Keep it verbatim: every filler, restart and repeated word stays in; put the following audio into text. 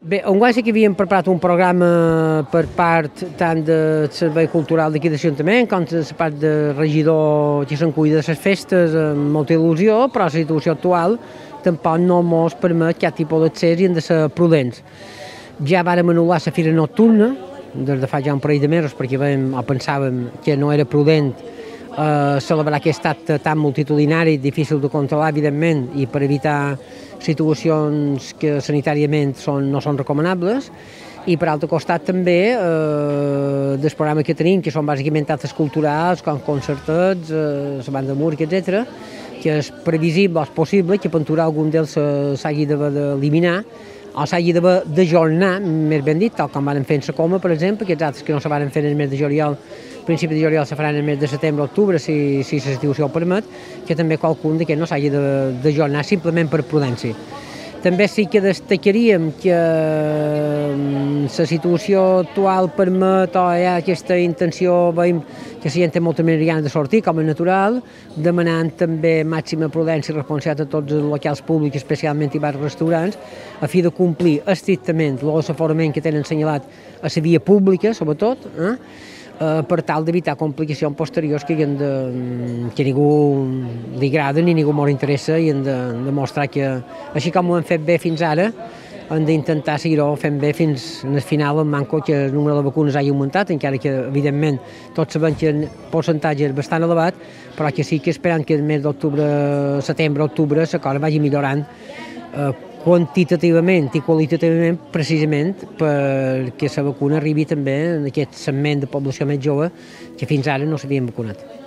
Bé, enguany sí que havíem preparat un programa per part tant del Servei Cultural d'aquí de l'Ajuntament com de la part de regidor que se'n cuida de les festes amb molta il·lusió, però la situació actual tampoc no ens permet cap tipus d'accés i hem de ser prudents. Ja vàrem anul·lar la fira nocturna des de fa ja un parell de mesos perquè vam, o pensàvem que no era prudent eh, celebrar aquest acte tan multitudinari, difícil de controlar, evidentment, i per evitar situacions que sanitàriament són, no són recomanables, i per altre costat també eh, dels programes que tenim, que són bàsicament actes culturals, com concertets, eh, la banda de música, etcètera, que és previsible o és possible que per algun d'ells s'hagi d'eliminar o s'hagi d'ajornar, més ben dit, tal com van fer en la Coma, per exemple, aquests altres que no se van fer en el mes de juliol, principi de juliol se faran en el mes de setembre o octubre, si, si la situació ho permet, que també qualcun d'aquests no s'hagi d'ajornar simplement per prudència. També sí que destacaríem que la situació actual permet o hi ha aquesta intenció, veiem que la gent té molta més ganes de sortir, com és natural, demanant també màxima prudència i responsabilitat a tots els locals públics, especialment i bars i restaurants, a fi de complir estrictament l'aforament que tenen assenyalat a la via pública, sobretot, eh? Eh, per tal d'evitar complicacions posteriors que, de, que a ningú li agrada ni a ningú molt interessa i hem de demostrar que, així com ho hem fet bé fins ara, hem d'intentar seguir-ho fent bé fins al final, en manco que el número de vacunes hagi augmentat, encara que, evidentment, tots sabem que el percentatge és bastant elevat, però que sí que esperant que el mes d'octubre, setembre, octubre, la cosa vagi millorant eh, quantitativament i qualitativament, precisament perquè la vacuna arribi també en aquest segment de població més jove que fins ara no s'havien vacunat.